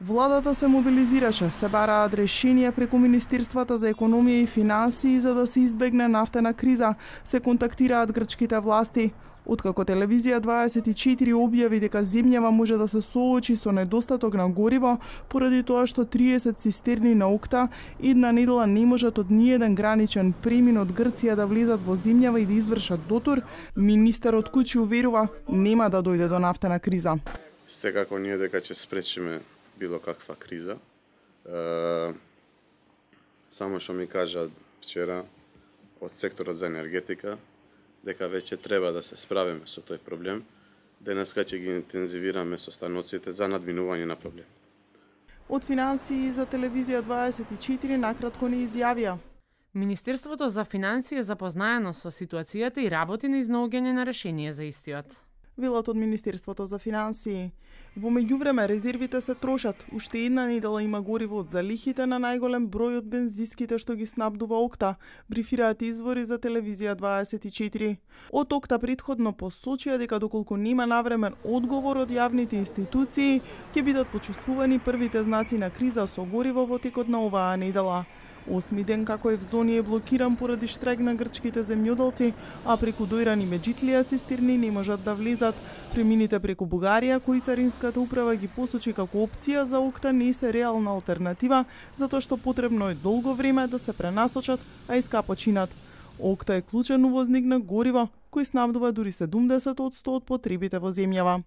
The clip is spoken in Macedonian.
Владата се мобилизираше, се бараат решенија преку Министерствата за економија и финансии за да се избегне нафтена криза, се контактираат грчките власти. Откако телевизија 24 објави дека земјава може да се соочи со недостаток на гориво, поради тоа што 30 цистерни на Окта една недела не можат од ниеден граничен премин од Грција да влезат во земјава и да извршат дотур, министерот Кучи уверува нема да дојде до нафтена криза. Секако ние дека ќе спречиме било каква криза. Само што ми кажа вчера од секторот за енергетика дека веќе треба да се справиме со тој проблем. Денеска ќе ги интензивираме состаноците за надминување на проблем. Од финансии за телевизија 24 накратко не изјавија. Министерството за финансии е запознаено со ситуацијата и работи на изнаоѓање на решение за истиот. Велат од Министерството за финансии. Во меѓувреме резервите се трошат. Уште една недела има гориво од залихите на најголем број од бензиските што ги снабдува Окта, брифираат извори за телевизија 24. Од Окта претходно посочија дека доколку нема навремен одговор од јавните институции, ќе бидат почувствувани првите знаци на криза со гориво во текот на оваа недела. 8 ден како Евзони е блокиран поради штрајк на грчките земјоделци, а преку дојрани меѓитлија цистерни не можат да влезат. Премините преку Бугарија, кои царинската управа ги посочи како опција за Окта, не се реална алтернатива, затоа што потребно е долго време да се пренасочат, а и скапо чинат. Окта е клучен увозник на гориво, кој снабдува дури 70% од потребите во земјава.